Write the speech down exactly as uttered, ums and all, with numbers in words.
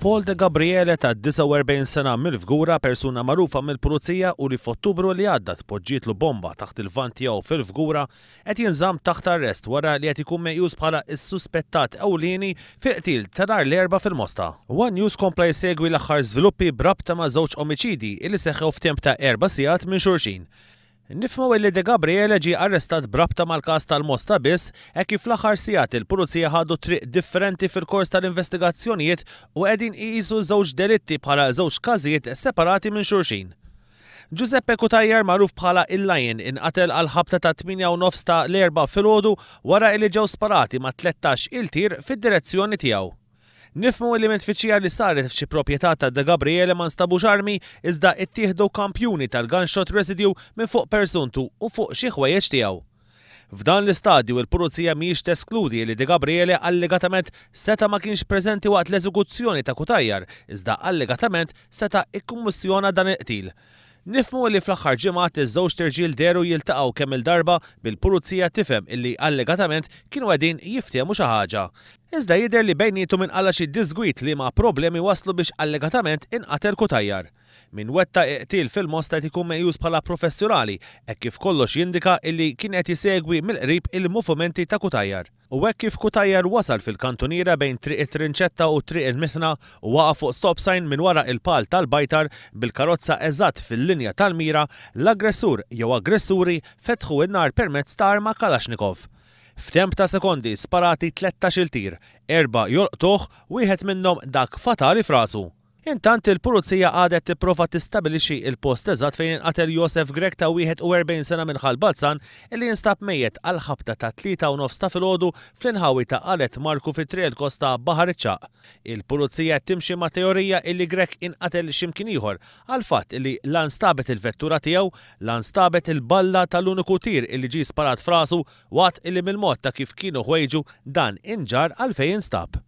Paul De Gabriele ta' disgħa u erbgħin sena mill-Fgura, persuna magħrufa mill-Pulizija u li f'Ottubru li għadda tpoġġietlu bomba taħt il-vann tiegħu fil-Fgura, qed jinżamm taħt arrest wara li qed ikun meqjus bħala s-suspettat ewlieni fil-qtil ta' nhar l-Erbgħa fil-Mosta. One News kompla jsegwi l-aħħar żviluppi b'rabta ma' żewġ omiċidji li seħħew f'temp ta' erba' sigħat minn xulxin. Nifhmu li De Gabriele ġie arrestat b'rabta mal-każ tal-Mosta biss, hekk kif fl-aħħar sigħat il-Pulizija ħadu triq differenti fil-kors tal-investigazzjonijiet u qegħdin iqisu żewġ delitti bħala żewġ każijiet separati minn xulxin. Giuseppe Cutajar, magħruf bħala il-Lion, inqatel għal ħabta ta' tmienja u nofs ta' l-Erbgħa filgħodu wara li ġew sparati ma' tlettax il tir fid-direzzjoni tiegħu. Nifhmu li minn tfittxija li saret f'xi proprjetà ta' De Gabriele ma nstabux armi, iżda ittieħdu kampjuni tal-gunshot residue minn fuq persuntu u fuq xi ħwejjeġ tiegħu. F'dan l-istadju il-Pulizija mhijiex teskludi li De Gabriele allegatament seta' ma kienx preżenti waqt l-eżekuzzjoni ta' Cutajar, iżda allegatament seta' ikkummissjona dan il-qtil. Nifhmu li fl-aħħar ġimgħat iż-żewġ irġiel dehru jiltaqgħu kemm il-darba, bil-Pulizija tifhem illi allegatament kienu qegħdin jiftehmu xi ħaġa. Iżda jidher li bejniethom inqala' xi diżgwit li ma' problemi waslu biex allegatament inqatel Cutajar. Min wettaq qtil fil-Mosta qed ikun meqjus bħala professjonali, hekk kif kollox jindika illi kien qed jisegwi mill-qrib il-movimenti ta' Cutajar. U hekk kif Cutajar wasal fil-kantuniera bejn Triq it-Trinċetta u Triq il-Mitħna u waqa' fuq stop sign minn wara il-pal tal-bajtar bil-karozza eżatt fil-linja tal-mira, l-aggressur jew aggressuri fetħu n-nar permezz ta' arma Kalashnikov. F'temp ta' sekondi sparati tlettax-il tir, erba' jolqtuh, wieħed minnhom dak fatali f'rasu. Intant il-Pulizija għadet tipprova tistabilixxi il-post eżatt fejn inqatel Josef Grech ta' wieħed u erbgħin sena minn Ħal Balzan, illi jinstab mejjet għal ħabta ta' tlieta u nofs ta' filgħodu fl-inħawi ta' Qalet Marku fi Triq il-Kosta, Baħar iċ-Ċagħaq. Il-Pulizija qed timxi ma' teorija illi Grech inqatel x'imkien ieħor għal fatt illi la nstabet il-vettura tiegħu, la nstabet il-balla tal-uniku tir illi ġie sparat f'rasu, waqt illi mill-mod ta' kif kienu ħwejġu dan inġar għal fejn instab.